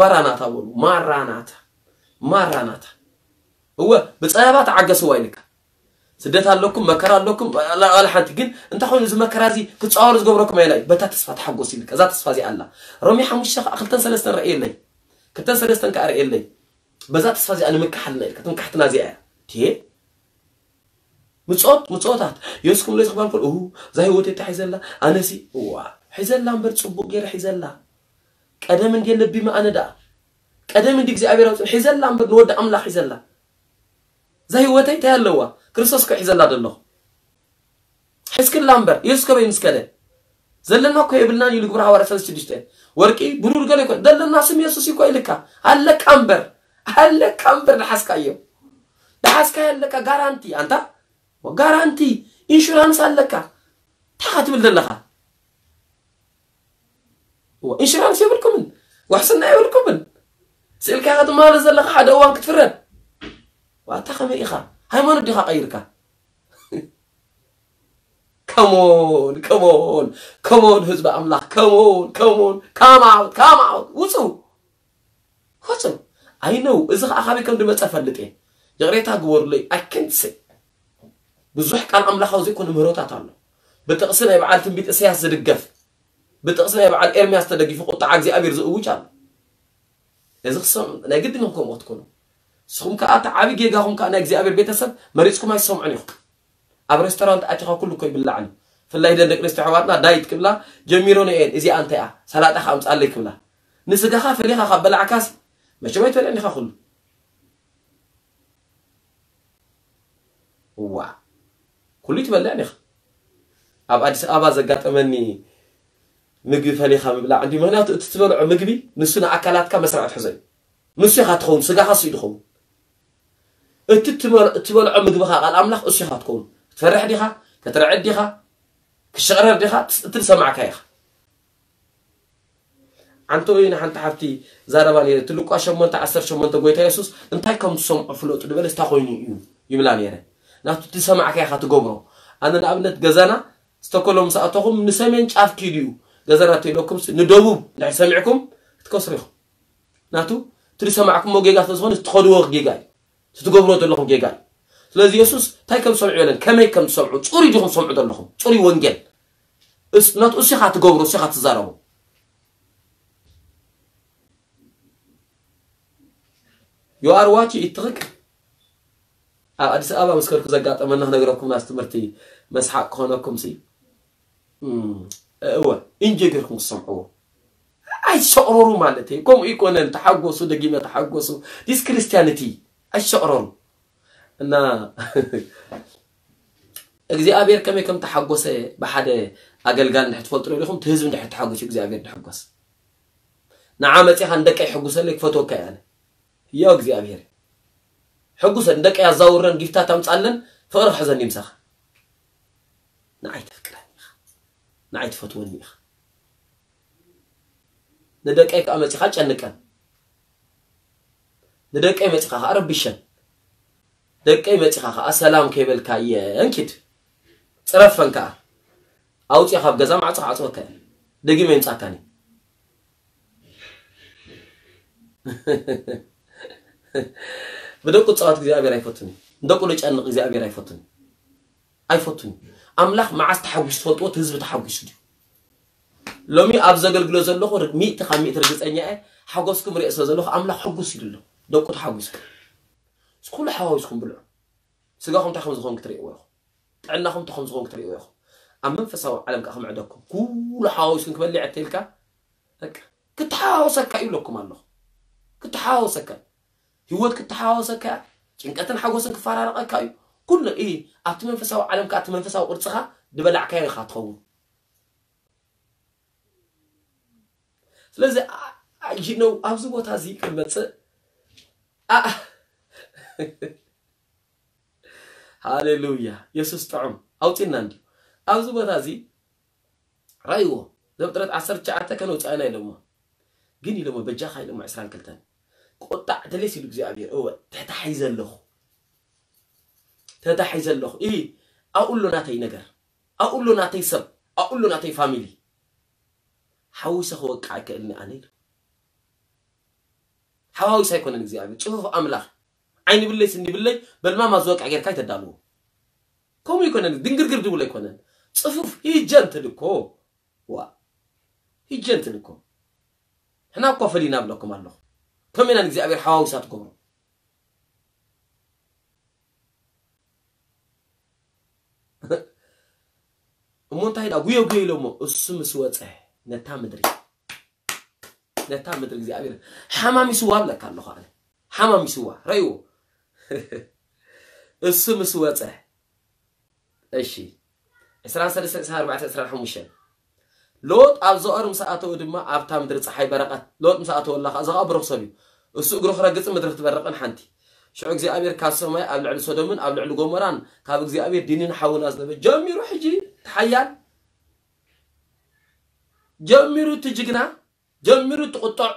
ማራናታ በሉ። ማራናታ፣ ማራናታ። እወ፣ ብጸበባ ተዓገስዋ ኢልካ። ስደት ኣለኩም፣ መከራ ኣለኩም፣ ኣላ ሓንቲ ግን እንታይ ኮይኑ፣ እዚ መከራ እዚ ክጻወሩ ዝገብረኩም ኣየናይ? በታ ተስፋ ተሓጎስ ኢልካ። እዛ ተስፋ እዚኣ ኣላ። ሮሜ ሓሙሽተ ከኣ ክልተን ሰለስተን ርእየለይ። ክልተን ሰለስተን ከኣ ርእየለይ። በዛ ተስፋ እዚኣ ንምካሕ ኣለና ኢልካ። ትምካሕትና እዚኣ እያ። ትሄ ምጾት፣ ምጾታት። የሱስ ክምለስ ክባል ከሎ፣ እሁ፣ እዛ ህይወት እታ ሒዘላ፣ ኣነሲ፣ እዋ፣ ሒዘላ እምበር ጽቡቕ ገይረ ሒዘላ። ቀደም እንዴ ለቢመ ኣነ ደኣ። ቀደም እንዲ እግዚኣብሔር ኣውፅን ሒዘላ እምበር ንወዲ ኣምላኽ ሒዘላ። እዛ ህይወተይ እንታይ ኣለዋ? ክርስቶስ እኮ ሒዘላ ደለኹ። ሒዝክላ እምበር፣ የሱስ ከበይ ምስ ከደ? ዘለና እኮ የብልናን ኢሉ ግብረ ሃዋርያ ሰለስተ ሽዱሽተ። ወርቂ፣ ብሩር ገለ እኮ፣ ዘለና ስም የሱስ እኮ ኢልካ። ኣለካ እምበር፣ ኣለካ እምበር ደሓስካዮ። ደሓስካዮ ኣለካ ጋራንቲ፣ ኣንታ ጋራንቲ፣ ኢንሹራንስ ኣለካ። እንታይ ትብል ዘለኻ? እዋ፣ ኢንሹራንስ የብልኩምን፣ ዋሕስና የብልኩምን። ስእልካ ኢኻ ትመላለስ ዘለኻ፣ ሓደ እዋን ክትፍረድ። ዋታ ከመይ ኢኻ? ሃይማኖት ዲኻ ቀይርካ? ከሞን፣ ከሞን፣ ከሞን ህዝቢ ኣምላኽ፣ ከሞን፣ ከሞን፣ come out፣ come out፣ ውጹ። ውጹ። I know፣ እዚ ኸኣ ካበይ ከም ዝመጸ ፈልጥ እየ። ይቕሬታ ግበሩለይ፣ I can't say። ብዙሕ ቃል ኣምላኻዊ ዘይኮነ ምህሮታት ኣሎ። ብጥቕሲ ናይ በዓል ትንቢት እሰያስ ዝድገፍ፣ ብጥቕሲ ናይ በዓል ኤርምያስ ተደጊፉ ቁጥዓ እግዚኣብሔር ዝእውጅ ኣሎ። እዚ ክሰም-፣ ናይ ግድን ኢኹም ከምኡ ክትኮኑ። ንስኹም ከኣ እቲ ዓቢ ጌጋኹም ከኣ ናይ እግዚኣብሔር ቤተሰብ መሪጽኩም ኣይትሰምዑን ኢኹም። ኣብ ሬስቶራንት ኣቲኻ ኩሉ እኮ ይብላዕ እዩ። ብፍላይ ደን ደቂ ኣንስትዮ ኣሕዋትና ዳይት ክብላ ጀሚሮን እየን። እዚኣ እንታይ እያ? ሰላጣ ከኣ ኣምጻለይ ክብላ። ንስጋኻ ፈሊኻ ካብ በላዕካስ መቸም ኣይትበልዕን ኢኻ ኩሉ። እዋ፣ ኩሉ ይትበልዕን ኢኻ። ኣብ ኣዲስ ኣበባ ዘጋጠመኒ ምግቢ ፈሊኻ ምብላዕ እንዲ፣ ምኽንያቱ እቲ ትበልዖ ምግቢ ንሱ ንኣካላትካ መስርዕ ትሕዞ እዩ። ንሱ ኢኻ ትኸውን፣ ስጋኻ እሱ እዩ ዝኸውን። እቲ ትበል-፣ እትበልዖ ምግብኻ ቃል ኣምላኽ እሱ ኢኻ ትኸውን። ክትፈርሕ ዲኻ? ክትርዕድ ዲኻ? ክሽቕረር ዲኻ? ትስ-፣ እቲ ዝሰማዕካ ኢኻ። ኣንተ ወይ ንሓንቲ ሓፍቲ ዛረባ ነይረ፣ እቲ ሉቃስ ሸሞንተ ዓሰርተ ሸሞንተ ጎይታ የሱስ እንታይ ከም ትሰምዑ ፍለጡ ዝበለስ እንታይ ኮይኑ እዩ ይብላ ነይረ። ናቱ እቲ ዝሰማዕካ ኢኻ ትገብሮ። ኣነ ንኣብነት ገዛና ስቶኮሎም ምስ ኣተኹም ንሰሜን ጫፍ ኪዱ እዩ ገዛና ተኢለኩም ንደቡብ እንድሕር ሰሚዕኩም ክትከስሩ ኢኹም። ናቱ እቲ ዝሰማዕኩሞ ጌጋ ስለ ዝኾነ ትኸድዎ ጌጋ እዩ። እቲ ትገብሮ ዘለኹም ጌጋ እዩ። ስለዚ የሱስ እንታይ ከም ትሰምዑ የለን፣ ከመይ ከም ትሰምዑ፣ ጽሩይ ዲኹም ትሰምዑ ዘለኹም፣ ጽሩይ ወንጌል። እስ-፣ ናቱ እሱ ኢኻ ትገብሮ፣ እሱ ኢኻ ትዛረቦ። You are watch it ትኽክል። ኣብ ኣዲስ ኣበባ ምስ ከድኩ ዘጋጠመና ክነግረኩም ናስ ትምህርቲ መስሓቅ ክኾነኩም ሲ። እም፣ እወ፣ ኢንጆይ ጌርኩም ክሰምዕዎ። ኣይሰቕረሩ ማለት እዩ። ከምኡ ይኮነን፣ ተሓጎሱ፣ ደጊመ ተሓጎሱ። ዲስ ክርስቲያኒቲ፣ ኣይሰቕረሩ። እና እግዚኣብሔር ከመይ ከም ተሓጎሰ ብሓደ ኣገልጋል እንድሕር ትፈልጡ ዶ ኢኹም? እቲ ህዝቢ እንድሕር ተሓጉሱ እግዚኣብሔር ድሕጎስ። ንዓ መጺኻ ንደቀይ ሕጉሰለይ ክፈትወካ እየ ኣነ። ያው እግዚኣብሔር ሕጉሰን፣ ንደቀይ ኣዛውረን፣ ጊፍታት ኣምጻለን፣ ፍቕሪ ክሕዘኒ ምሳኻ። ንዓይ ተፍቅረኒ ኢኻ። ንዓይ ትፈትወኒ ኢኻ። ንደቀይ ከኣ መጺኻ ጨንቀን። ንደቀይ መጺኻ ከኣ ረብሸን። ደቀይ መጺኻ ከኣ ሰላም ከይበልካየን ኪድ። ጽረፈን ከኣ። ኣውጽኦ ካብ ገዛ ማዕጾ ክዓጽወካ እየ። ደጊመ ይምጻካኒ። ብደቁ ዝጻወት እግዚኣብሔር ኣይፈቱን እዩ። ንደቁ ዝጨንቕ እግዚኣብሔር ኣይፈቱን እዩ። ኣይፈቱን እዩ። ኣምላኽ መዓስ ተሓጒሱ ትፈልጥዎ? እቲ ህዝቢ ተሓጒሱ ድዩ? ሎሚ ኣብ ዘገልግሎ ዘለኹ ር-፣ ሚእቲ ካብ ሚእቲ ርግጸኛ እየ። ሓጎስኩም ርእየ ስለ ዘለኹ ኣምላኽ ሕጉስ ኢሉ ኣሎ። ደቁ ተሓጒሱ። ኩሉ ሓዋዊስኩም ብልዑ። ስጋኹም እንታይ ከም ዝኾን ክትርእይዎ ኢኹም። ጥዕናኹም እንታይ ከም ዝኾን ክትርእይዎ ኢኹም። ኣብ መንፈሳዊ ዓለም ከኣ ክምዕደኩም። ኩሉ ሓዋዊስኩም ክበልዕ እተኢልካ፣ በቃ፣ ክተሓዋወሰካ እዩ ኢለኩም ኣለኹ። ክተሓዋወሰካ እዩ። ህይወት ክተሓዋወሰካ እያ። ጭንቀትን ሓጎስን ክፈራረቐካ እዩ። ኩሉ፣ እ፣ ኣብቲ መንፈሳዊ ዓለም ከኣ እቲ መንፈሳዊ ቅርጽኻ ዝበላዕካዮ ኢኻ ትኸውን። ስለዚ፣ ኣ-፣ ኣ-፣ you know፣ ኣብዚ ቦታ እዚ ክንመጽእ፣ ኣ-፣ ሃሌሉያ፣ የሱስ ጥዑም ኣውጺእና እንድዩ። ኣብዚ ቦታ እዚ ራእይዎ፣ ዘፍጥረት ዓሰርተ ትሽዓተ ከነውጽኣና ኢሎሞ። ግን ኢሎሞ፣ በጃኻ ኢሎሞ፣ ዕስራን ክልተን። ቁጣዕ ተሌስ ኢሉ እግዚኣብሔር፣ እወ፣ ተታሒዘ ኣለኹ። ተታሒዘ ኣለኹ። ኢ፣ ኣብኡ ኣሎ ናተይ ነገር። ኣብኡ ኣሎ ናተይ ሰብ። ኣብኡ ኣሎ ናተይ ፋሚሊ። ሓዊሰ ክወቅዕ ኣይክእልን ኣነ ኢሉ። ሓዋዊስ ኣይኮነን እግዚኣብሔር፣ ጽፉፍ ኣምላኽ። ዓይኒ ብለይ ስኒ ብለይ በልማማ ዝወቅዕ ጌርካ ኣይተዳልዎ። ከምኡ ኣይኮነን፣ ድንግርግር ድብል ኣይኮነን። ጽፉፍ ሂጀንትል እኮ። ዋ፣ ሂጀንትል እኮ። ሕና እኮ ፈሊና ብለኩም ኣለኹ። ከመይ ኢና ንእግዚኣብሔር ሓዋዊሳ ትገብሮ? እሞ እንታይ ኢላ ጉዮ ጉዮ ኢሎሞ? እሱ ምስ ወፀ ነታ ምድሪ፣ ነታ ምድሪ እግዚኣብሔር ሓማሚስዋ ብለካ ኣለኹ ኣነ። ሓማሚስዋ፣ ረእይዎ። እሱ ምስ ወፀ፣ እሺ፣ ዕስራን ሰለስተን፣ ዕስራን ኣርባዕተን፣ ዕስራን ሓሙሽተን። ሎጥ ኣብ ዞኣር ምስ ኣተወ ድማ ኣብታ ምድሪ ፀሓይ በረቐት። ሎጥ ምስ ኣተወላ ኸዓ፣ እዚ ኸዓ ብሩኽ ሰብ እዩ። እሱ እግሩ ክረግጽን ምድሪ ክትበርቕን ሓንቲ። ሽዑ እግዚኣብሔር ካብ ሰማይ ኣብ ልዕሊ ሶዶምን ኣብ ልዕሊ ጎሞራን ካብ እግዚኣብሔር ዲንን ሓውን ኣዝነበ። ጀሚሩ ሕጂ እቲ ሓያል፣ ጀሚሩ እቲ ጅግና፣ ጀሚሩ እቲ ቁጡዕ።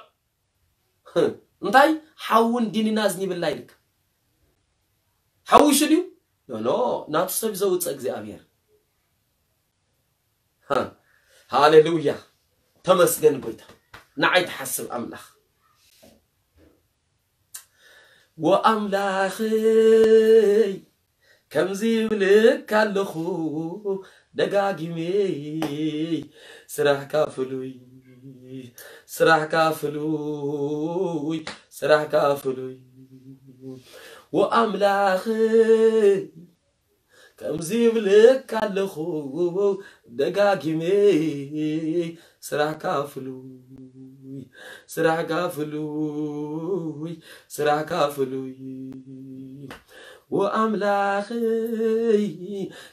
እንታይ ሓውን ዲንን ኣዝኒብላ ኢልካ? ሓዊሱ ድዩ? ኖ፣ ኖ፣ ናቱ ሰብ ዘውፅእ እግዚኣብሔር። ሃ፣ ሃሌሉያ። ተመስገን ጎይታ። ንዓይ ትሓስብ ኣምላኽ። ወኣምላኽይ፣ ከምዚ ይብልካ ኣለኹ ደጋጊመ፣ ስራሕካ ፍሉይ፣ ስራሕካ ፍሉይ፣ ስራሕካ ፍሉይ። ወኣምላኽይ፣ ከምዚ ይብልካ ኣለኹ ደጋጊመ፣ ስራሕካ ፍሉይ፣ ስራሕካ ፍሉይ፣ ስራሕካ ፍሉይ። ወኣምላኽይ፣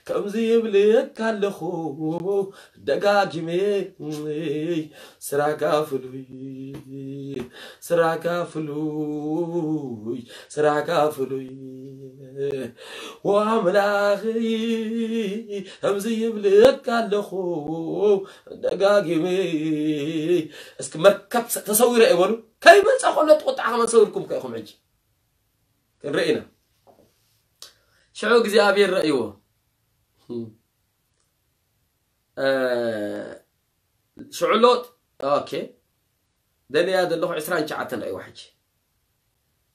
ከምዚ ይብልካ ኣለኹ ደጋጊመ፣ ስራሕካ ፍሉይ፣ ስራሕካ ፍሉይ፣ ስራሕካ ፍሉይ። ወኣምላኽይ፣ ከምዚ ይብልካ ኣለኹ ደጋጊመ። እስኪ መርከብ ተሰዊረ እየ በሉ። ከይመጸ ከሎ እቲ ቁጥዓ ከመን ሰዊርኩም ከ ኢኹም ሕጂ? ክንርኢ ኢና። ሽዑ እግዚኣብሔር ረእይዎ። እ፣ ሽዑ ሎጥ፣ ኦኬ፣ ደልያ ዘለኹ ዕስራን ትሽዓተን ረእይዋ ሕጂ።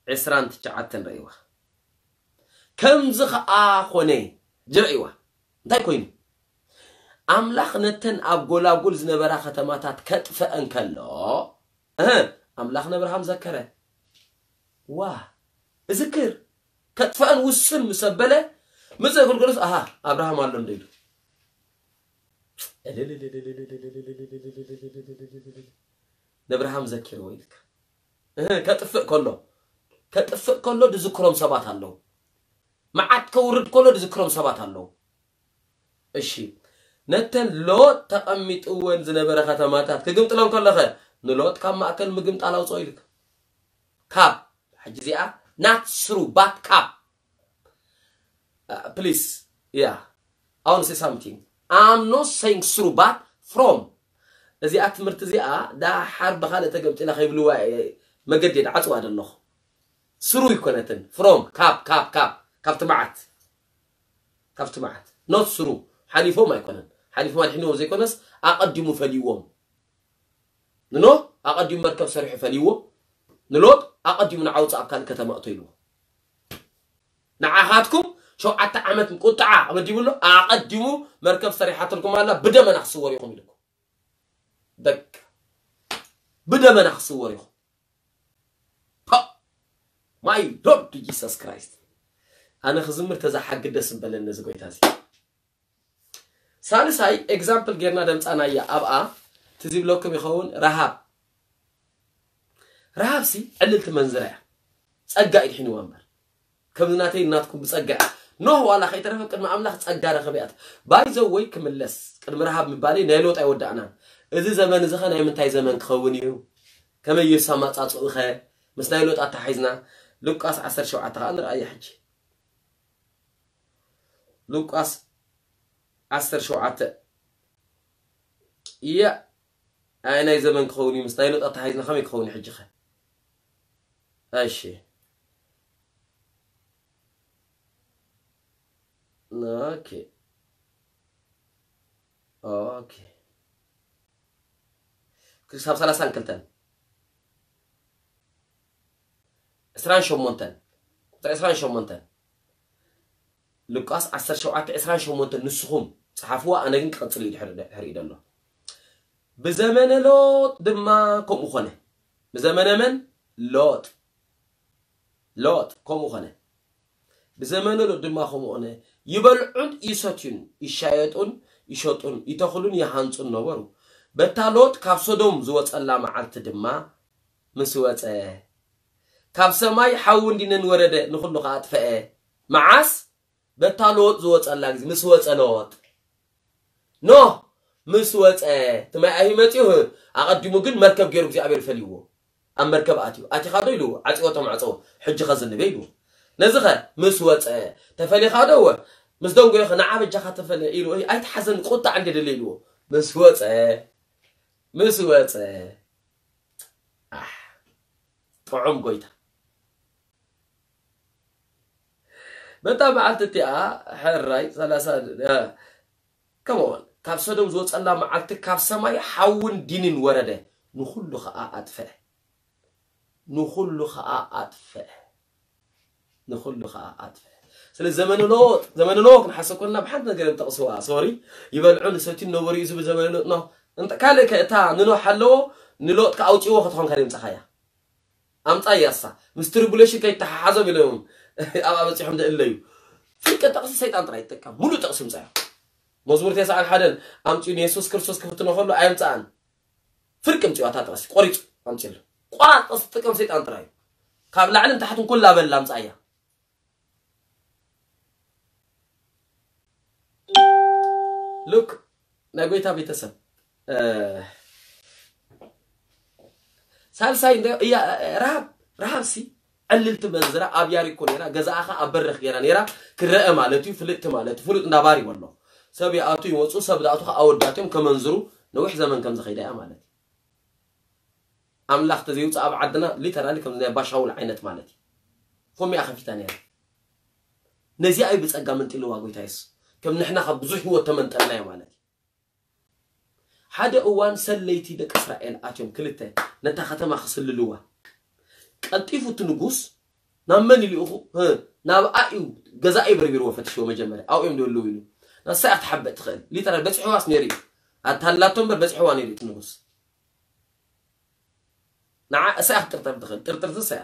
ዕስራን ትሽዓተን ረእይዋ። ከምዚ ኸዓ ኾነ፣ ጅረእይዋ። እንታይ ኮይኑ? ኣምላኽ ነተን ኣብ ጎላጉል ዝነበራ ከተማታት ከጥፈአን ከሎ፣ እህ፣ ኣምላኽ ነብርሃም ዘከረ። ዋ፣ እዝክር፣ ከጥፈአን ውስን ምስ ኣበለ፣ ምጽእ ግልገሎስ፣ ኣሃ፣ ኣብርሃም ኣሎ እንዶ ኢሉ። ነብርሃም ዘኪርዎ ኢልካ። እህ፣ ከጥፍእ ከሎ፣ ከጥፍእ ከሎ ድዝክሮም ሰባት ኣለዉ። መዓት ከውርድ ከሎ ድዝክሮም ሰባት ኣለዉ። እሺ፣ ነተን ሎጥ ተቐሚጥወን ዝነበረ ከተማታት ክግምጥለን ከለኸ፣ ንሎጥ ካብ ማእከል ምግምጣል ኣውፅኦ ኢልካ። ካብ፣ ሕጂ እዚኣ፣ not through, but ካብ። Uh, please, yeah, I want to say something. I'm not saying through, but from. እዚኣ ትምህርቲ እዚኣ ዳሓር ብኻልእ ተገምጢላ ከይብልዋ እየ መገዲ ድዓፅዋ ዘለኹ። ስሩ ይኮነትን። From፣ ካብ፣ ካብ፣ ካብ፣ ካብቲ መዓት። ካብቲ መዓት። Not through። ሓሊፎም ኣይኮነን። ሓሊፎም ኣድሒንዎም ዘይኮነስ ኣቐዲሙ ፈልይዎም። ንኖህ ኣቐዲሙ መርከብ ሰሪሑ ፈልይዎ። ንሎጥ ኣቐዲሙ ንዓ ውፅእ ኣብ ካልእ ከተማ እቶ ኢልዎ። ንዓኻትኩም ሸውዓተ ዓመት ቁጥዓ ኣመዲቡ ኣሎ። ኣቐዲሙ መርከብ ሰሪሓትልኩም ኣላ፣ ብደመና ክስወር ኢኹም ኢልኩም። በቃ። ብደመና ክስወር ኢኹም። ፓ! My Lord Jesus Christ። ኣነ ክዝምር ተዛሓግድ ደስ ምበለኒ እዚ ጎይታ እዚ። ሳልሳይ ኤግዛምፕል ጌርና ደምፃናያ ኣብኣ ትዝ ይብለኩም ይኸውን ረሃብ። ረሃብ ሲ ዕልልቲ መንዝራ እያ። ጸጋ እዩ ድሒንዋ እምበር። ከምዚ ናተይ ናትኩም ብጸጋ እያ። ኖህ ዋላ ከይተረፈ ቅድሚ ኣምላኽ ጸጋ ረኸበ እያ። ባይ ዘ ወይ ክምለስ ቅድሚ ረሃብ ምባለይ ናይ ሎጥ ኣይወዳእናን። እዚ ዘመን እዚ ኸ ናይ ምንታይ ዘመን ክኸውን እዩ? ከመይ ኢየሱስ ኣማጻጽኡ ኸ ምስ ናይ ሎጥ ኣተሓሒዝና? ሉቃስ ዓሰርተ ሸውዓተ ኸኣ ንርኣያ ሕጂ። ሉቃስ ዓሰርተ ሸውዓተ። እያ፣ ኣየናይ ዘመን ክኸውን እዩ? ምስ ናይ ሎጥ ኣተሓሒዝና ከመይ ክኸውን እዩ ሕጂ ኸ? እሺ። ኦኬ። ኦኬ። ክሳብ ሰላሳን ክልተን። ዕስራን ሸሞንተን፣ ቁፅሪ ዕስራን ሸሞንተን፣ ሉቃስ ዓሰርተ ሸውዓተ ዕስራን ሸሞንተን ንስኹም ጸሓፍዋ፣ ኣነ ግን ክቐጽል እዩ ድሕሪ፣ ድሕሪ ዘሎ። ብዘመነ ሎጥ ድማ ከምኡ ኾነ። ብዘመነ መን? ሎጥ። ሎጥ ከምኡ ኾነ። ብዘመነ ሎጥ ድማ ከምኡ ኾነ። ይበልዑን ይሰትዩን፣ ይሻየጡን ይሸጡን፣ ይተኽሉን ይሃንጹን ነበሩ። በታ ሎጥ ካብ ሶዶም ዝወጸላ መዓልቲ ድማ ምስ ወጸ፣ ካብ ሰማይ ሓውን ዲንን ወረደ፣ ንኹሉ ከኣ ኣጥፈአ። መዓስ? በታ ሎጥ ዝወጸላ ግዜ፣ ምስ ወጸ ሎጥ። ኖህ ምስ ወጸ፣ እቲ ማይ ኣዩ መጺኡ፣ ኣቐዲሙ ግን መርከብ ገይሩ እግዚኣብሔር ፈልይዎ። ኣብ መርከብ ኣትዩ። ኣቲኻ ዶ ኢልዎ፣ ዓጽዎ እቶም ማዕጾ፣ ሕጂ ከዝንበ ኢልዎ። ነዚ ኸ ምስ ወጸ፣ ተፈሊኻ ዶ? እወ። ምስ ደንጎዮ ኸ ንዓ በጃኻ ተፈለ ኢልዎ። ኣይትሓዘን፣ ቁጣዕ እንደ ደለ ኢልዎ። ምስ ወጸ፣ ምስ ወጸ። ኣሕ፣ ጥዑም ጎይታ። በታ መዓልቲ እቲኣ፣ ሕራይ፣ ሰላሳ፣ እ፣ ከመ ኦን፣ ካብ ሰዶም ዝወጸላ መዓልቲ ካብ ሰማይ ሓውን ዲንን ወረደ፣ ንኹሉ ኸኣ ኣጥፍአ። ንኹሉ ኸኣ ኣጥፍአ። ንኹሉ ኸኣ ኣጥፍአ። ስለ ዘመነ ኖህ፣ ዘመነ ኖህ ክንሓስብ ከለና ብሓንቲ ነገር እዮም ጠቕስዋ። ሶሪ፣ ይበልዑን ይሰትዩን ነበሩ እዩ ዝብል ዘመነ ኖህ። እንተ-፣ ካልእ ከ እታ ንኖህ ሓለዎ፣ ንሎጥ ከ ኣውጽእዎ ክትኾን ከ የምጻኻያ። ኣምጻ እያ እሳ። ምስ ትሪቡሌሽን ከይተሓሓዞም ኢሎም እዮም ኣብ ኣበጺሖም ደእለዩ። ፍርቂ ጥቕሲ ሰይጣን ጥራይ ይጥቀም። ሙሉእ ጥቕሲ ምጻዮ። መዝሙር ተስዓን ሓደን ኣምጺኡ ንየሱስ ክርስቶስ ክፍትኖ ከሎ ኣየምጻኣን። ፍርቂ ኣምጺኡ ኣታ ጥቕሲ ቆሪጹ ኣምጺሉ። ቆራጥ ጥቕሲ ትጥቀም ሰይጣን ጥራይ እዩ። ካብ ላዕልን ታሕትን ኩላ በላ ኣምጻ እያ። ሉክ ናይ ጎይታ ቤተሰብ፣ እ፣ ሳልሳይ እንደ እያ፣ ረሃብ፣ ረሃብ ሲ ዕልልቲ መንዝራ ኣብ ያሪኮ ነይራ፣ ገዛኣ ኸኣ ኣብ በርኽ ገይራ ነይራ፣ ክረአ ማለት እዩ፣ ፍልጥቲ ማለት እዩ፣ ፍሉጥ እንዳ ባር ይበሎ። ሰብ ይኣቱ ይወፁ፣ ሰብ ዝኣቱ ኸኣ ኣወዳት እዮም ከመንዝሩ፣ ነዊሕ ዘመን ከም ዝኸይዳ እያ ማለት እዩ። ኣምላኽ ተዘይውፅእ ኣብ ዓድና ሊተራሊ ከም ናይ ባሻውል ዓይነት ማለት እዩ። ፎሚኣ ከፊታ ነይራ። ነዚኣ እዩ ብጸጋ መንጢልዋ ጎይታ የሱስ። ከም ንሕና ካብ ብዙሕ ህይወት ተመንጠልናዮ ማለት እዩ። ሓደ እዋን ሰለይቲ ደቂ እስራኤል ኣትዮም ክልተ ነታ ከተማ ክስልልዋ። ቀልጢፉ እቲ ንጉስ ናብ መን ኢሉ ይኹ? ህ፣ ናብኣ እዩ ገዛኢ በርቢርዎ ፈትሽዎ መጀመርያ። ኣብኡ እዮም ደልዉ ኢሉ። ንሳ እያ ክትሓበጥ ትኽእል። ሊተራል በጺሕዋስ ነይሩ እዩ። ኣታላቶ እምበር በጺሕዋ ነይሩ እዩ እቲ ንጉስ። ንዓ እሳ እያ ክትጥርጠር ትኽእል። ጥርጥርቲ እሳ እያ።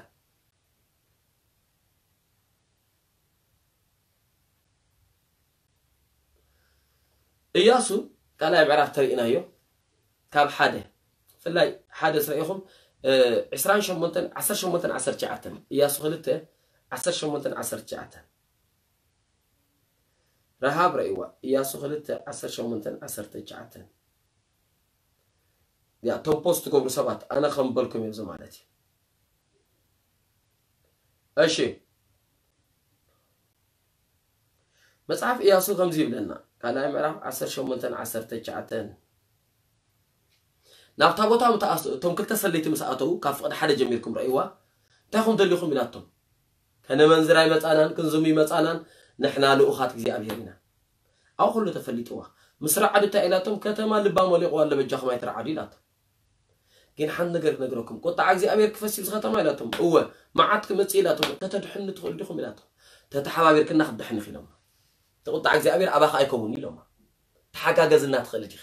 እያሱ ካልኣይ ምዕራፍ ተሪእናዮ። ካብ ሓደ፣ ብፍላይ ሓደ ስረኢኹም፣ እ፣ ዕስራን ሸሞንተን፣ ዓሰርተ ሸሞንተን፣ ዓሰርተ ትሽዓተን። እያሱ ክልተ፣ ዓሰርተ ሸሞንተን፣ ዓሰርተ ትሽዓተን። ረሃብ ረእይዋ። እያሱ ክልተ፣ ዓሰርተ ሸሞንተን፣ ዓሰርተ ትሽዓተን። ያ፣ እቶም ፖስት ትገብሩ ሰባት፣ ኣነ ከም በልኩም እዮም ማለት እዩ። እሺ። መጽሓፍ እያሱ ከምዚ ይብለና፣ ካልኣይ ምዕራፍ ዓሰርተ ሸሞንተን ዓሰርተ ትሽዓተን። ናብታ ቦታ ምተኣስ-፣ እቶም ክልተ ሰለይቲ ምስ ኣተዉ፣ ካብ ፍቕዲ ሓደ ጀሚርኩም ረእይዋ፣ እንታይ ኹም ደሊኹም ኢላቶም። ከነመንዝር ኣይመጻናን፣ ክንዝሙ ይመጻናን፣ ንሕና ልኡኻት እግዚኣብሔር ኢና። ኣብ ኩሉ ተፈሊጥዋ። ምስ ረዓዱ እንታይ ኢላቶም፣ ከተማ ልባ መሊቕዋ ኣሎ፣ በጃኹም ኣይትረዓዱ ኢላቶም። ግን ሓንቲ ነገር ክነግረኩም፣ ቁጣዓ እግዚኣብሔር ክፈሲ ኣብዚ ከተማ ኢላቶም። እወ፣ መዓት ክመጽእ ኢላቶም፣ ተተድሕኑ ትኽእሉ ዲኹም ኢላቶም። ተተሓባቢርክና ክትድሕን ኢኺ ኢሎማ። እቲ ቁጣዓ እግዚኣብሔር ኣባኻ ኣይከውን ኢሎማ። ተሓጋገዝና ትኽእል ዲኺ?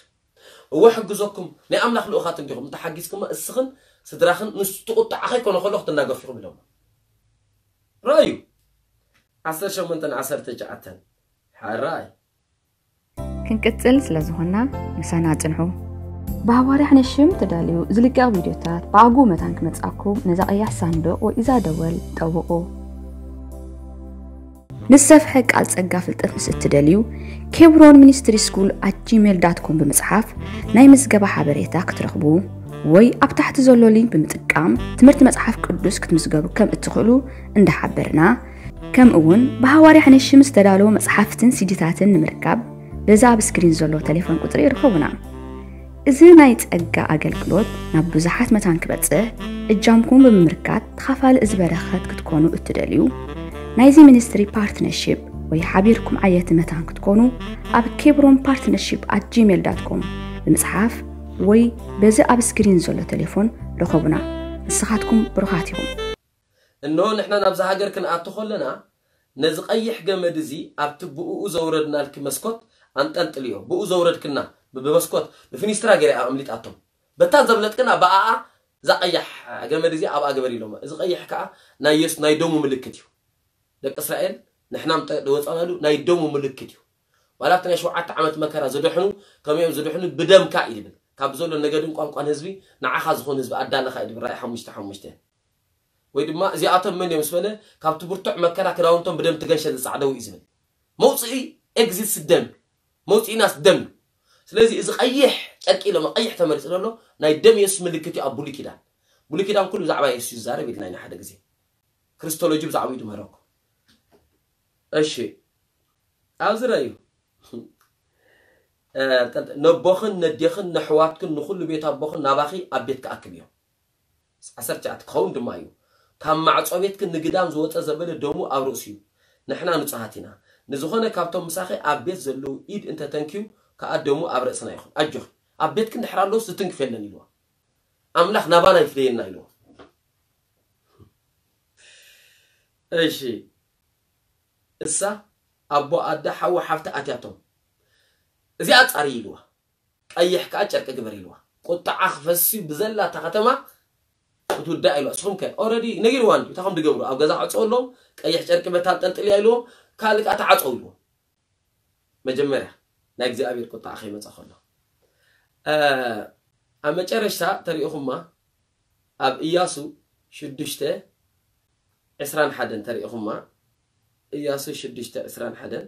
እወ፣ ሕግዘኩም፣ ናይ ኣምላኽ ልኡኻት እንዲኹም፣ እንተሓጊዝኩማ እስኽን ስድራኽን ምስ እቲ ቁጣዓ ከይኮነ ከሎ ክትናገፉ ኢኹም ኢሎማ። ረኣዩ። ዓሰርተ ሸሞንተን ዓሰርተ ትሽዓተን። ሓራይ። ክንቅጽል ስለ ዝኾንና ምሳና ጽንሑ። ብሃዋርያ ነሽም ተዳልዩ ዝልቀቕ ቪድዮታት ብኣግኡ መታን ክመጽኣኩም ነዛ ቀያሕ ሳንዱቕ ወይ እዛ ደወል ጠውቑ። ንዝሰፍሐ ቃል ጸጋ ፍልጠት ምስ እትደልዩ፣ ኬብሮን ሚኒስትሪ ስኩል ኣት ጂሜል ዳት ኮም ብምጽሓፍ ናይ ምዝገባ ሓበሬታ ክትረኽቡ ወይ ኣብ ታሕቲ ዘሎ ሊንክ ብምጥቃም ትምህርቲ መጽሓፍ ቅዱስ ክትምዝገቡ ከም እትኽእሉ እንዳሓበርና፣ ከምኡ እውን ብሃዋርያ ሕነሽም ዝተዳለዉ መጽሓፍትን ሲዲታትን ንምርካብ በዚ ኣብ ስክሪን ዘሎ ቴሌፎን ቁጽሪ ይርኸቡና። እዚ ናይ ጸጋ ኣገልግሎት ናብ ብዙሓት መታን ክበጽሕ እጃምኩም ብምምርካት ተኻፋሊ እዚ በረኸት ክትኮኑ እትደልዩ፣ ናይዚ ሚኒስትሪ ፓርትነርሺፕ ወይ ሓቢርኩም ዓየቲ መታን ክትኮኑ ኣብ ኬብሮን ፓርትነርሺፕ ኣት ጂሜል ዳት ኮም ብምጽሓፍ ወይ በዚ ኣብ ስክሪን ዘሎ ቴሌፎን ርኸቡና። ንስኻትኩም ብሩኻት ኢኹም። እንሆ ንሕና ናብዛ ሃገር ክንኣቱ ከለና ነዚ ቀይሕ ገመድ እዚ ኣብቲ ብእኡ ዘውረድናልኪ መስኮት ኣንጠልጥልዮ። ብኡ ዘውረድክና ብ- ብመስኮት ብፊኒስትራ ገይረ ኣምሊጣቶም። በታ ዘብለጥክና ብኣኣ እዛ ቀያሕ ገመድ እዚ ኣብኣ ግበር ኢሎም። እዚ ቀይሕ ከዓ ናይ የሱስ ናይ ደሙ ምልክት እዩ። ደቂ እስራኤል ንሕና ምጠ- ዝወፃናሉ ናይ ደሙ ምልክት እዩ። ዋላ ኣብቲ ናይ ሸውዓተ ዓመት መከራ ዝድሕኑ ከመይ እዮም ዝድሕኑ? ብደምካ እዩ ዝብል። ካብ ዘሎ ነገድን ቋንቋን ህዝቢ ንዓኻ ዝኾን ህዝቢ ኣዳለኻ እዩ ዝብል። ራእይ ሓሙሽተ ሓሙሽተ። ወይ ድማ እዚኣቶም መን እዮም ምስ በለ ካብቲ ብርቱዕ መከራ ክዳውንቶም ብደም ትገንሸ ዝጻዕደው እዩ ዝብል። መውፅኢ ኤግዚትስ ደም፣ መውፅኢናስ ደም እዩ። ስለዚ እዚ ቀይሕ ጨርቂ ኢሎም ቀይሕ ተመሪፁ ዘሎ ናይ ደም የሱስ ምልክት እዩ። ኣብ ብሉይ ኪዳን ብሉይ ኪዳን ኩሉ ብዛዕባ የሱስ ይዛረብ ኢልና ኢና ሓደ ግዜ። ክርስቶሎጂ ብዛዕባኡ ድምህረኩም። እሺ፣ ኣብዚ ረዩ ነቦኽን ነዴኽን ነሕዋትክን ንኹሉ ቤት ኣቦኽን ናባኺ ኣብ ቤት ክኣክብ እዮም። ዓሰርተ ትሽዓተ ክኸውን ድማ እዩ። ካብ ማዕጾ ቤትክን ንግዳም ዝወጸ ዘበለ ደሙ ኣብ ርእሱ እዩ። ንሕና ንጹሃት ኢና። ንዝኾነ ካብቶም ምሳኺ ኣብ ቤት ዘለዉ ኢድ እንተተንክዩ ከኣ ደሙ ኣብ ርእስና ይኹን። ኣጆኺ፣ ኣብ ቤትክን ድሕር ኣለውስ ዝትንክፍ የለን ኢልዋ። ኣምላኽ ናባና ይፍደየና ኢልዋ። እሺ፣ እሳ ኣቦ ኣደ ሓዊ ሓፍቲ ኣትያቶም እዚኣ ጻሪ ኢልዋ። ቀይሕ ከዓ ጨርቂ ግበር ኢልዋ። ቁጣዓ ክፈሲ ብዘላ እታ ከተማ ክትውዳእ ኢልዋ። እስኹም ከ ኦረዲ ነጊርዋ እንዲ እንታይ ከም ድገብሩ ኣብ ገዛ ክዕፀው ኣለዎም። ቀይሕ ጨርቂ በታ ኣንጠልጥልያ ኢልዎም። ካልእ ከዓ ተዓፀው ኢልዎም። መጀመርያ ናይ እግዚኣብሔር ቁጣዓ ከይመፀ ከሎ ኣብ መጨረሽታ ተሪእኹማ ኣብ እያሱ ሽዱሽተ ዕስራን ሓደን ተሪእኹማ እያሱ ሽዱሽተ ዕስራን ሓደን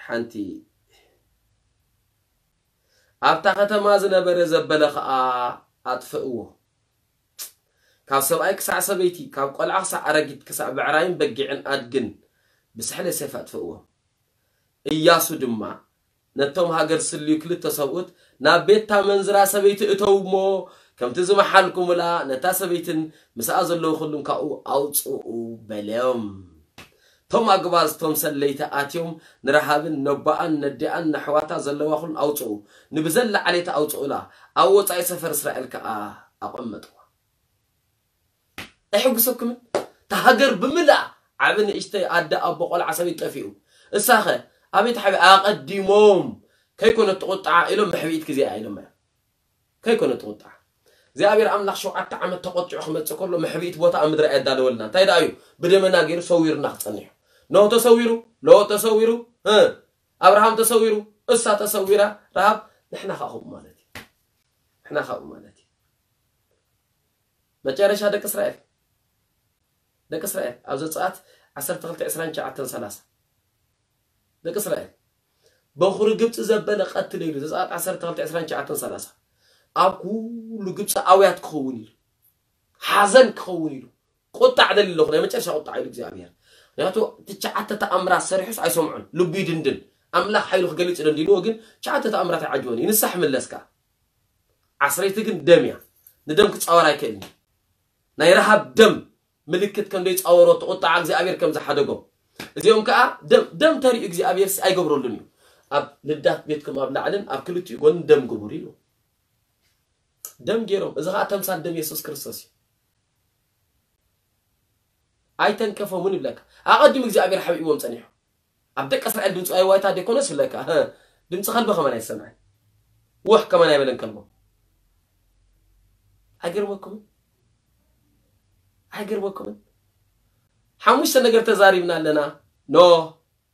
ሓንቲ ኣብታ ከተማ ዝነበረ ዘበለ ኸዓ ኣጥፍእዎ። ካብ ሰብኣይ ክሳዕ ሰበይቲ፣ ካብ ቆልዓ ክሳዕ ኣረጊት፣ ክሳዕ ብዕራይን በጊዕን ኣድግን ብስሕለ ሰይፊ ኣጥፍእዎ። እያሱ ድማ ነቶም ሃገር ስልዩ ክልተ ሰብኡት ናብ ቤት እታ መንዝራ ሰበይቲ እተው እሞ ከምቲ ዝመሓልኩምላ ነታ ሰበይትን ምስኣ ዘለዉ ኩሉን ካብኡ ኣውፅኡ በሎም። እቶም ኣግባዝቶም ሰለይቲ ኣትዮም ንረሃብን ነቦኣን ነዲኣን ነሕዋታ ዘለዋ ኩሉን ኣውፅኡ፣ ንብዘላ ዓሌታ ኣውፅኡላ፣ ኣብ ወፃኢ ሰፈር እስራኤል ከዓ ኣቐመጥዋ። ኣይሕጉሰኩምን? እታ ሃገር ብምልኣ ዓቢ ንእሽተይ ኣደ ኣቦ ቆልዓ ሰበይቲ ጠፊኡ። እሳኸ ኣበይ ተሓቢ ኣቐዲሞም ከይኮነት ትቑጣዓ ኢሎም መሕብኢት ግዜኣ ኢሎም እዮም። ከይኮነት ትቑጣዓ እግዚኣብሔር ኣምላኽ ሸውዓተ ዓመት ተቖጢዑ ክመጽእ ከሎ መሕብኢት ቦታ ኣብ ምድሪ ኣየዳለወልና እንታይ ደኣ እዩ ብደመና ገይሩ ሰዊርና ክጸኒሑ ኖህ ተሰዊሩ ሎጥ ተሰዊሩ እ ኣብርሃም ተሰዊሩ እሳ ተሰዊራ ረሃብ ንሕና ከዓ ከምኡ ማለት እዩ ንሕና ከዓ ማለት እዩ መጨረሻ ደቂ እስራኤል ደቂ እስራኤል ኣብ ዘጸኣት ዓሰርተ ክልተ ዕስራን ትሽዓተን ሰላሳ ደቂ እስራኤል በኹሪ ግብፂ ዘበለ ቀትል ኢሉ ዘጸኣት ዓሰርተ ክልተ ዕስራን ትሽዓተን ሰላሳ ኣብ ኩሉ ግብፂ ኣውያት ክኸውን ኢሉ ሓዘን ክኸውን ኢሉ ቁጣዕ ደሊ ኣለኹ ናይ መጨረሻ ቁጣዕ ኢሉ እግዚኣብሔር ምክንያቱ ትሽዓተ ተኣምራት ሰሪሑስ ኣይሰምዑን ልቡ ይድንድን ኣምላኽ ሓይሉ ክገልፅ ደንዲንዎ ግን ትሽዓተ ተኣምራት ኣይዓጅቦን እዩ ንሳሕ ምለስ ከዓ ዓስረይቲ ግን ደም እያ ንደም ክፃወር ኣይክእልን እዩ ናይ ረሃብ ደም ምልክት ከም ዘይፃወሮ እቲ ቁጣዓ እግዚኣብሔር ከም ዝሓደጎም እዚኦም ከዓ ደም ደም ተሪኡ እግዚኣብሔር ሲ ኣይገብረሉን እዩ ኣብ ልዳት ቤትኩም ኣብ ላዕልን ኣብ ክልቲኡ ጎንን ደም ግቡር ኢሉ ደም ገይሮም እዚ ከዓ ተምሳል ደም የሱስ ክርስቶስ እዩ ኣይተንከፎምን ይብለካ ኣቐዲሙ እግዚኣብሔር ሓቢእዎም ፀኒሑ ኣብ ደቂ እስራኤል ድምፂ ዋይዋይታ ደይኮነስ ይብለካ ድምፂ ከልቢ ከመን ኣይሰምዐን ወሕ ከመን ኣይበለን ከልቦም ኣይገርመኩምን ኣይገርመኩምን ሓሙሽተ ነገር ተዛሪብና ኣለና ኖህ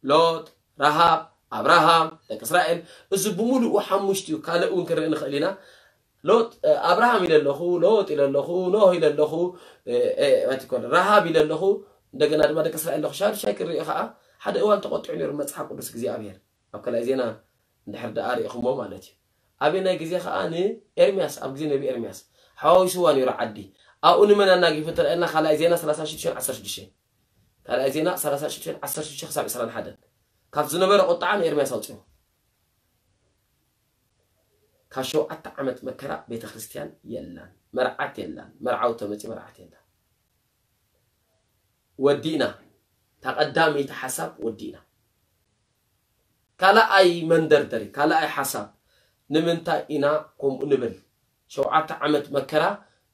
ሎጥ ረሃብ ኣብርሃም ደቂ እስራኤል እዚ ብምሉኡ ሓሙሽቲ እዩ ካልእ እውን ክንርኢ ንኽእል ኢና ሎጥ ኣብርሃም ኢለ ኣለኹ ሎጥ ኢለ ኣለኹ ኖህ ኢለ ኣለኹ ኣይትኮነ ረሃብ ኢለ ኣለኹ እንደገና ድማ ደቂ እስራኤል ኣለኹ ሻዱሻይ ክርኢ ከዓ ሓደ እዋን ተቆጢዑ ነይሩ መፅሓፍ ቅዱስ እግዚኣብሔር ኣብ ካልኣይ ዜና እንድሕር ደኣ ርኢኹሞ ማለት እዩ ኣበናይ ግዜ ከዓ ንኤርምያስ ኣብ ግዜ ነቢ ኤርምያስ ሓዋዊስዋ ነይሩ ዓዲ ኣብኡ ንመን ኣናጊፉ እንተረኣየና ካልኣይ ዜና ሰላሳ ሽዱሽተ ዓሰርተ ሽዱሽተ ካልኣይ ዜና ሰላሳ ሽዱሽተ ዓሰርተ ሽዱሽተ ክሳብ ዕስራን ሓደን ካብ ዝነበረ ቁጣዓ ንኤርምያስ ኣውፅዎ ካብ ሸውዓተ ዓመት መከራ ቤተ ክርስቲያን የላን መርዓት የላን መርዓዊ ተመፂ መርዓት የላን ወዲእና እታ ቀዳመይቲ ሓሳብ ወዲእና ካልኣይ መንደርደሪ ካልኣይ ሓሳብ ንምንታይ ኢና ከምኡ ንብል ሸውዓተ ዓመት መከራ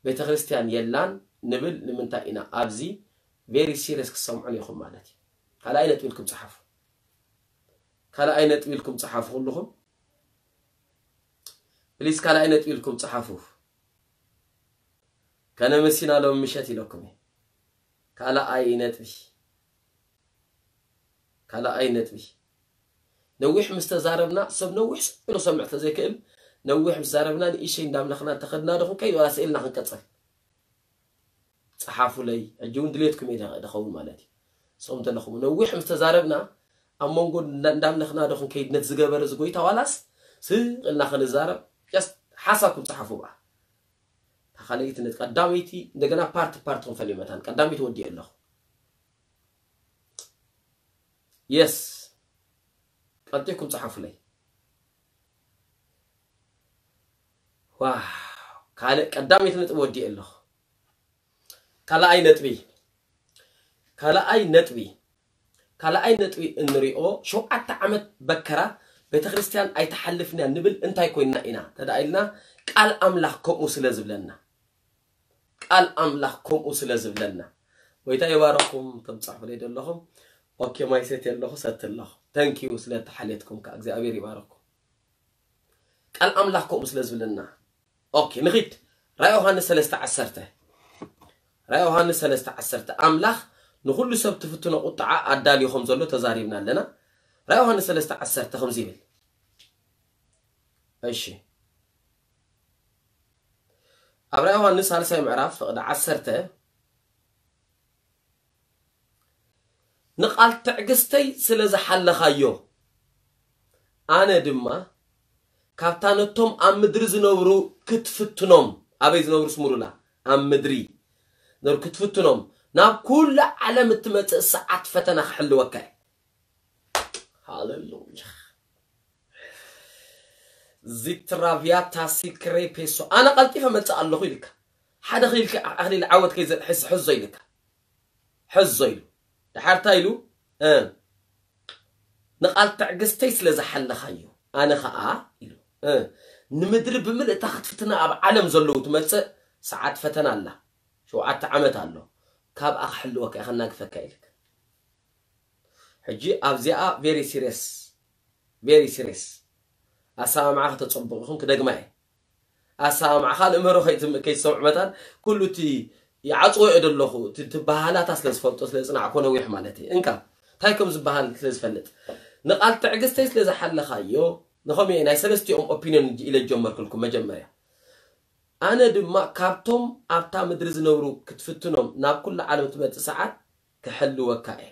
ቤተ ክርስቲያን የላን ንብል ንምንታይ ኢና? ኣብዚ very serious ክትሰምዑን ኢኹም ማለት እዩ። ካልኣይ ነጥቢ ኢልኩም ጸሓፉ። ካልኣይ ነጥቢ ኢልኩም ጸሓፉ ኩልኹም። ፕሊስ ካልኣይ ነጥቢ ኢልኩም ጸሓፉ። ከነመሲና ሎም ምሸት ኢለኩም እየ። ካልኣይ ነጥቢ። ካልኣይ ነጥቢ። ነዊሕ ምስ ተዛረብና፣ ሰብ ነዊሕ ስቕ ኢሉ ክሰምዕ ተዘይክእል፣ ነዊሕ ምስ ዛረብና ንእሽተይ እንዳምለኽና እንተኸድና ዶ ክንከይድ ዋላ ስኢልና ክንቀጽል? ጸሓፉለይ። ሕጂ እውን ድሌትኩም እየ ደ-፣ ደኸውን ማለት እዩ። ሰው እንተለኹም ነዊሕ ምስ ተዛረብና ኣብ መንጎ እንዳ-፣ እንዳምለኽና ዶ ክንከይድ ነቲ ዝገበረ እዚ ጎይታ ዋላስ ስቕ ኢልና ክንዛረብ? ጀስት ሓሳብኩም ጸሓፉ ብኣ። እታ ካልኣይቲ ነቲ ቀዳመይቲ እንደገና ፓርት ፓርት ክንፈልዮ መታን ቀዳመይቲ ወዲኤ ኣለኹ። የስ። ቀልጢፍኩም ጸሓፉለይ። ዋው። ካልእ ቀዳመይቲ ነጥቢ ወዲኤ ኣለኹ። ካልኣይ ነጥቢ። ካልኣይ ነጥቢ። ካልኣይ ነጥቢ እንሪኦ ሸውዓተ ዓመት በከራ ቤተክርስትያን ኣይትሓልፍን እያ ንብል እንታይ ኮይና ኢና? ተዳ ኢልና ቃል ኣምላኽ ከምኡ ስለ ዝብለና። ቃል ኣምላኽ ከምኡ ስለ ዝብለና። ጎይታ ይባረኹም፣ ተምጻሕፉለይ ደለኹም። ኦኬ፣ ማይ ሰትየ ኣለኹ፣ ሰቲ ኣለኹ። ተንክ ዩ ስለ ተሓልየትኩም ከኣ እግዚኣብሔር ይባረኩም። ቃል ኣምላኽ ከምኡ ስለ ዝብለና። ኦኬ፣ ንኺድ። ራእይ ዮሃንስ ሰለስተ ዓሰርተ። ራእይ ዮሃንስ ሰለስተ ዓሰርተ። ኣምላኽ ንኹሉ ሰብ ትፍትኖ ቁጥዓ ኣዳልዩ ከም ዘሎ ተዛሪብና ኣለና። ራእይ ዮሃንስ ሰለስተ ዓሰርተ ከምዚ ይብል። እሺ። ኣብ ራእይ ዮሃንስ ሳልሳይ ምዕራፍ ፍቕዲ ዓሰርተ፣ ንቓል ትዕግስተይ ስለ ዝሓለኻዮ፣ ኣነ ድማ ካብታ ነቶም ኣብ ምድሪ ዝነብሩ ክትፍትኖም፣ ኣበይ ዝነብሩ ስምሩላ? ኣብ ምድሪ ዝነብሩ ክትፍትኖም፣ ናብ ኩሉ ዓለም እትመጽእ ሰዓት ፈተና ክሕልወካ እየ። ሃሌሉያ። ዚትራቪያታ ሲክሬ ፔሶ። ኣነ ቀልጢፈ መጽእ ኣለኹ ኢልካ። ሓደ ኺልካ ኣኽሊል ዓወት ከይዘ-፣ ሕዝ-፣ ሕዞ ኢልካ። ሕዞ ኢሉ። ድሓር እንታይ ኢሉ? እ፣ ንቓል ትዕግስተይ ስለ ዝሓለኻዮ፣ ኣነ ኸኣ ኢሉ። እ፣ ንምድሪ ብምልእታ ክትፍትና ኣብ ዓለም ዘለዉ ትመጽእ ሰዓት ፈተና ኣላ። ሸውዓተ ዓመት ኣሎ። ካብኣ ክሕልወካ እየ፣ ከናግፈካ ኢልካ። ሕጂ ኣብዚኣ ቬሪ ሲሪየስ፣ ቬሪ ሲሪየስ። ኣሰማምዓ ከተጸብቑ ኢኹም፣ ክደግማ እየ። ኣሰማምዓ ካልእ ምህሮ ከይትም-፣ ከይትሰምዑ መታን፣ ኩሉ እቲ ይዓጽዎ እየ ደለኹ፣ እቲ፣ እቲ በሃላታ ስለ ዝፈልጦ፣ ስለ ዝጽናዕኮ ነዊሕ ማለት እየ። እንካ፣ እንታይ ከም ዝበሃል ስለ ዝፈልጥ። ንቓል ትዕግስተይ ስለ ዝሓለኻዮ፣ ንኸምኡ እየ ናይ ሰለስቲኦም ኦፒንዮን ኢለ ዝጀመርኩልኩም መጀመርያ። ኣነ ድማ ካብቶም ኣብታ ምድሪ ዝነብሩ ክትፍትኖም ናብ ኩሉ ዓለም ትመጽእ ሰዓት ክሕልወካ እየ።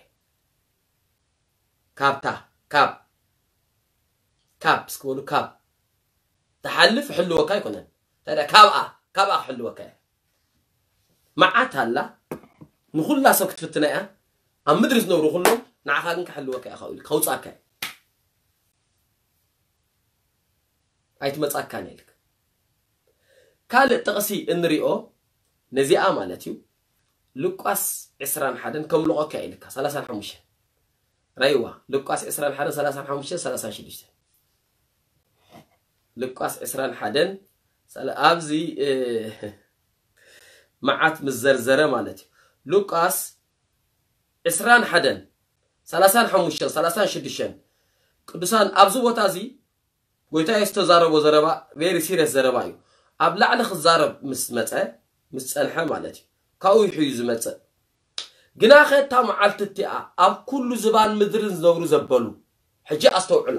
ካብታ፣ ካብ፣ ካብ፣ እስኪ በሉ፣ ካብ ትሓልፍ ክሕልወካ ኣይኮነን። ታዲያ ካብኣ፣ ካብኣ ክሕልወካ እየ። መዓት ኣላ፣ ንኹላ ሰብ ክትፍትና እያ። ኣብ ምድሪ ዝነብሩ ኩሎም፣ ንዓኻ ግን ክሕልወካ እየ፣ ከውጻካ እየ። ኣይትመጻካን እየ ኢልካ። ካልእ ጥቕሲ እንሪኦ ነዚኣ ማለት እዩ። ሉቃስ ዕስራን ሓደን ከምልቖካ እየ ኢልካ፣ ሰላሳን ሓሙሽተን። ራይዋ፣ ሉቃስ ዕስራን ሓደን፣ ሰላሳን ሓሙሽተን፣ ሰላሳን ሽዱሽተን። ሉቃስ ዕስራን ሓደን፣ ሰላ-፣ ኣብዚ፣ እ፣ መዓት ምስ ዘርዘረ ማለት እዩ። ሉቃስ ዕስራን ሓደን፣ ሰላሳን ሓሙሽተን፣ ሰላሳን ሽዱሽተን። ቅዱሳን፣ ኣብዚ ቦታ እዚ ጎይታ የሱስ ዝተዛረቦ ዘረባ ቬሪ ሲሪየስ ዘረባ እዩ። ኣብ ላዕሊ ክዛረብ ምስ መጸ፣ ምስ ጸንሐ ማለት እዩ። ካብኡ እዩ ዝመጽእ። ግናኸ እታ መዓልቲ እቲኣ ኣብ ኩሉ ዝባን ምድርን ዝነብሩ ዘበሉ። ሕጂ ኣስተውዕላ።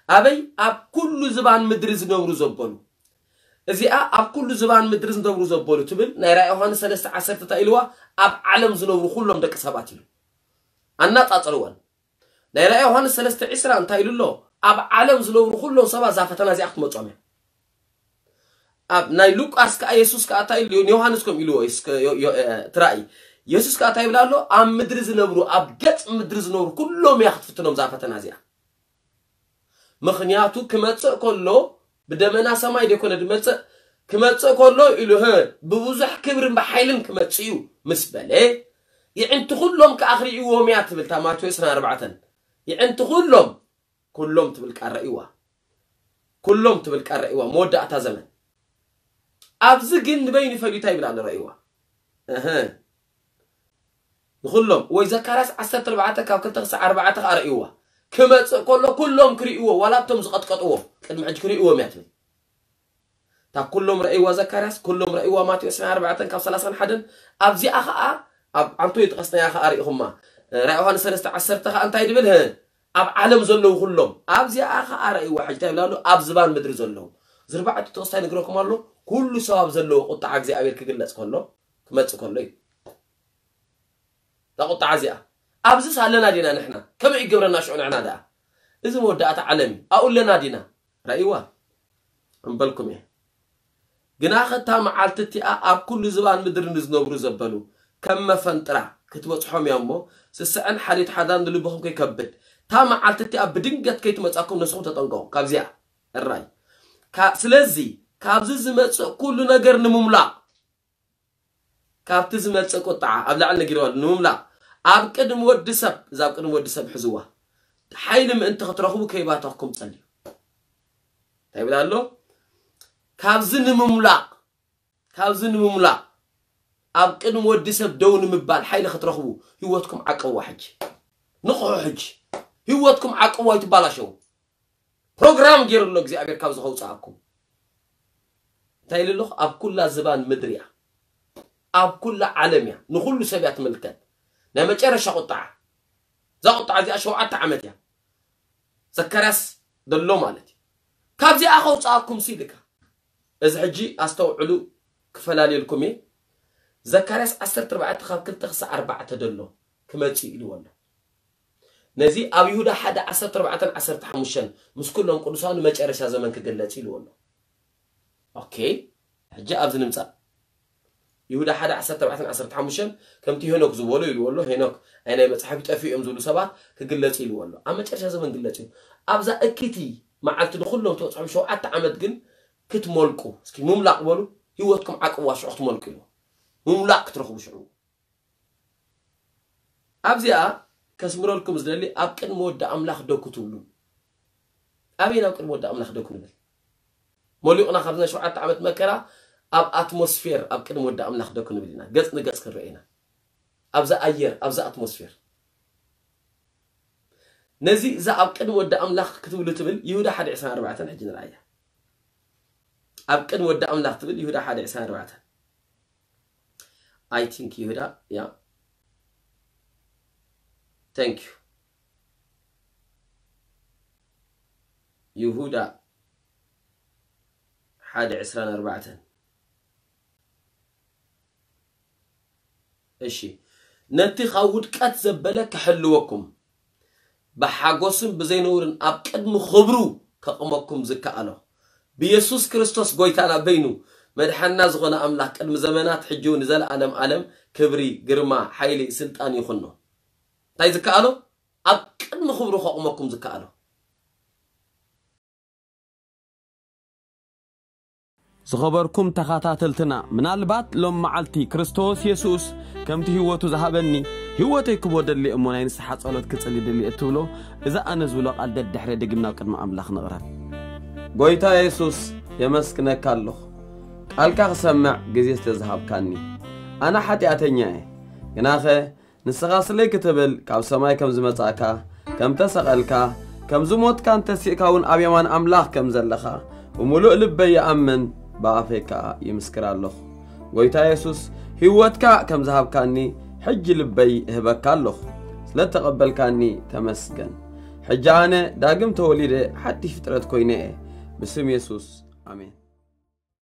ኣበይ? ኣብ ኩሉ ዝባን ምድሪ ዝነብሩ ዘበሉ። እዚኣ ኣብ ኩሉ ዝባን ምድሪ ዝነብሩ ዘበሉ ትብል ናይ ራእይ ዮሃንስ ሰለስተ ዓሰርተ እንታይ ኢልዋ? ኣብ ዓለም ዝነብሩ ኩሎም ደቂ ሰባት ኢሉ። ኣናጻጽርወን። ናይ ራእይ ዮሃንስ ሰለስተ ዕስራ እንታይ ኢሉ ኣሎ? ኣብ ዓለም ዝነብሩ ኩሎም ሰባት እዛ ፈተና እዚኣ ክትመጾም እያ። ኣብ ናይ ሉቃስ ከኣ የሱስ ከኣ እንታይ ኢሉ? ንዮሃንስ ከም ኢልዎ እስከ ዮ-፣ ዮ-፣ እ፣ እቲ ራእይ። የሱስ ከኣ እንታይ ይብል ኣሎ? ኣብ ምድሪ ዝነብሩ፣ ኣብ ገጽ ምድሪ ዝነብሩ ኩሎም እያ ክትፍትኖም እዛ ፈተና እዚኣ። ምኽንያቱ ክመጽእ ከሎ ብደመና ሰማይ ዘይኮነ ዝመጽእ፣ ክመጽእ ከሎ ኢሉ፣ ህ፣ ብብዙሕ ክብርን ብሓይልን ክመጽእ እዩ ምስ በለ፣ የዕንቲ ኩሎም ከኣ ክርእይዎም እያ ትብል እታ ማቴዎስ ዕስራን ኣርባዕተን። የዕንቲ ኩሎም፣ ኩሎም ትብል ቃል ረእይዋ። ኩሎም ትብል ቃል ረእይዋ። መወዳእታ ዘመን። ኣብዚ ግን ንበይኑ ፈልዩ እንታይ ይብል ኣሎ ረእይዋ። እህ። ንኹሎም ወይ ዘካርያስ ዓሰርተ ኣርባዕተ ካብ ክልተ ክሳዕ ኣርባዕተ ከኣ ረእይዋ። ክመጽእ ከሎ ኩሎም ክርእይዎ፣ ዋላ እቶም ዝቐጥቀጥዎ ቅድሚ ሕጂ ክርእይዎም እያ ትብል። እታ ኩሎም ረእይዋ ዘካርያስ፣ ኩሎም ረእይዋ ማቴዎስ ዕስራን ኣርባዕተን ካብ ሰላሳን ሓደን። ኣብዚኣ ኸኣ ኣብ ዓንቶ ይጥቀስናያ ኸኣ ርኢኹማ። ራእይ ዮሃንስ ሰለስተ ዓሰርተ ኸኣ እንታይ ድብል? ህ፣ ኣብ ዓለም ዘለዉ ኩሎም ኣብዚኣ ኸኣ ረእይዋ። ሕጂ እንታይ ይብል ኣሎ? ኣብ ዝባን ምድሪ ዘለዉ ዝርባዕቱ ተወስታይ ነግረኩም ኣሎ። ኩሉ ሰብ ኣብ ዘለዎ ቁጣዓ እግዚኣብሔር ክግለጽ ከሎ፣ ክመጽእ ከሎ እዩ። እታ ቁጣዓ እዚኣ ኣብዚስ ኣለና ዲና ንሕና? ከመይ ይገብረና ሽዑ ንሕና ደኣ? እዚ መወዳእታ ዓለም እዩ። ኣብኡ ኣለና ዲና? ራእይዋ እምበልኩም እየ። ግናኸ እታ መዓልቲ እቲኣ ኣብ ኩሉ ዝባን ምድሪ ንዝነብሩ ዘበሉ ከም መፈንጥራ ክትበጽሖም እያ እሞ፣ ስስዐን ሓልዮት ሓዳር ንልብኹም ከይከብድ፣ እታ መዓልቲ እቲኣ ብድንገት ከይትመጻኩም ነስኹም ተጠንቀቑ። ካብዚኣ እራይ። ካ-፣ ስለዚ ካብዚ ዝመጽእ ኩሉ ነገር ንምምላቕ፣ ካብቲ ዝመጽእ ቁጥዓ ኣብ ላዕሊ ነጊርዋ ኣሎ፣ ንምምላቕ ኣብ ቅድሚ ወዲ ሰብ፣ እዛ ኣብ ቅድሚ ወዲ ሰብ ሕዝዋ፣ ሓይሊ ምእንቲ ክትረኽቡ ከይባተኽኩም ጸልዩ። እንታይ ይብል ኣሎ? ካብዚ ንምምላቕ፣ ካብዚ ንምምላቕ ኣብ ቅድሚ ወዲ ሰብ ደው ንምባል ሓይሊ ክትረኽቡ ህይወትኩም ዓቀዋ ሕጂ። ንቕሑ ሕጂ። ህይወትኩም ዓቀዋ ይትባላሸው። ፕሮግራም ገይሩ ኣሎ እግዚኣብሔር ካብዚ ከውፅኣኩም። እንታይ ኢሉ ኣለኹ? ኣብ ኩላ ዝባን ምድሪ እያ፣ ኣብ ኩላ ዓለም እያ፣ ንኹሉ ሰብ እያ ትምልከት። ናይ መጨረሻ ቁጣዓ፣ እዛ ቁጣዓ እዚኣ ሸውዓተ ዓመት እያ። ዘካርያስ ደሎ ማለት እዩ። ካብዚኣ ከውፅኣኩም ሲ ኢልካ። እዚ ሕጂ ኣስተውዕሉ፣ ክፈላልየልኩም እየ። ዘካርያስ ዓሰርተ ኣርባዕተ ካብ ክልተ ክሳዕ ኣርባዕተ ደሎ ክመፅእ ኢልዎ ኣሎ። ነዚ ኣብ ይሁዳ ሓደ ዓሰርተ ኣርባዕተን ዓሰርተ ሓሙሽተን ምስ ኩሎም ቅዱሳኑ መጨረሻ ዘመን ክግለጽ ኢልዎ ኣሎ። ኦኬ፣ ሕጂ ኣብዚ ንምጻእ። ይሁዳ ሓደ ዓሰርተ ኣርባዕተን ዓሰርተ ሓሙሽተን ከምቲ ሄኖክ ዝበሎ ኢልዎ ኣሎ። ሄኖክ ኣይ ናይ መጽሓፍ ይጠፍኡ እዮም ዝብሉ ሰባት ክግለጽ ኢልዎ ኣሎ። ኣብ መጨረሻ ዘመን ግለጽ እዩ። ኣብዛ እክይቲ መዓልቲ ንኹሎም ትበጽሖም ሸውዓተ ዓመት ግን ክትመልቁ፣ እስኪ ምምላቕ በሉ፣ ህይወትኩም ዓቅዋ ሽዑ ክትመልቁ ኢልዎ። ምምላቕ ክትረኽቡ ሽዑ። ኣብዚኣ ከስምረልኩም ዝደሊ ኣብ ቅድሚ ወዲ ኣምላኽ ደው ክትብሉ። ኣበይ ናብ ቅድሚ ወዲ ኣምላኽ ደው ክንብል? መሊቑና ካብዚ ናይ ሸውዓተ ዓመት መከራ ኣብ ኣትሞስፌር ኣብ ቅድሚ ወዲ ኣምላኽ ደው ክንብል ኢና። ገጽ ንገጽ ክንረአ ኢና። ኣብዛ ኣየር፣ ኣብዛ ኣትሞስፌር። ነዚ እዛ ኣብ ቅድሚ ወዲ ኣምላኽ ክትብሉ ትብል ይሁዳ ሓደ ዕስራን ኣርባዕተን ሕጂ ንርኣያ። ኣብ ቅድሚ ወዲ ኣምላኽ ትብል ይሁዳ ሓደ ዕስራን ኣርባዕተን። I think ይሁዳ፣ ያ። Thank you። ይሁዳ ሓደ ዕስራን ኣርባዕተን። እሺ፣ ነቲ ካብ ውድቀት ዘበለ ክሕልወኩም፣ ብሓጎስን ብዘይነውርን ኣብ ቅድሚ ክብሩ ከቕመኩም ዝከኣሎ፣ ብየሱስ ክርስቶስ ጎይታና በይኑ መድሓንና ዝኾነ ኣምላኽ ቅድሚ ዘመናት ሕጂ እውን ንዘለኣለም ዓለም ክብሪ፣ ግርማ፣ ሓይሊ፣ ስልጣን ይኹኖ። እንታይ ዝከኣሎ? ኣብ ቅድሚ ክብሩ ከቕመኩም ዝከኣሎ። ዝኸበርኩም ተኸታተልትና፣ ምናልባት ሎም መዓልቲ ክርስቶስ የሱስ ከምቲ ህይወቱ ዝሃበኒ ህይወተይ ክቦ ደሊ እሞ ናይ ንስሓ ጸሎት ክጽሊ ደሊ እትብሎ፣ እዚ ኣነ ዝብሎ ቃል ደድሕረ ድግም ናብ ቅድሚ ኣምላኽ ንቕረብ። ጎይታ የሱስ፣ የመስግነካ ኣለኹ፣ ቃልካ ክሰምዕ ግዜ ስለ ዝሃብካኒ። ኣነ ሓጢኣተኛ እየ፣ ግናኸ ንስኻ ስለይ ክትብል ካብ ሰማይ ከም ዝመጻእካ፣ ከም ተሰቐልካ፣ ከም ዝሞትካን ተሲእካ እውን ኣብ የማን ኣምላኽ ከም ዘለኻ ብምሉእ ልበይ ይኣምን፣ ብኣፈይ ከኣ ይምስክር ኣለኹ። ጎይታ የሱስ፣ ህይወትካ ከም ዝሃብካኒ ሕጂ ልበይ እህበካ ኣለኹ። ስለ እተቐበልካኒ ተመስገን። ሕጂ ኣነ ዳግም ተወሊደ ሓድሽ ፍጥረት ኮይነ እየ። ብስም የሱስ፣ ኣሜን።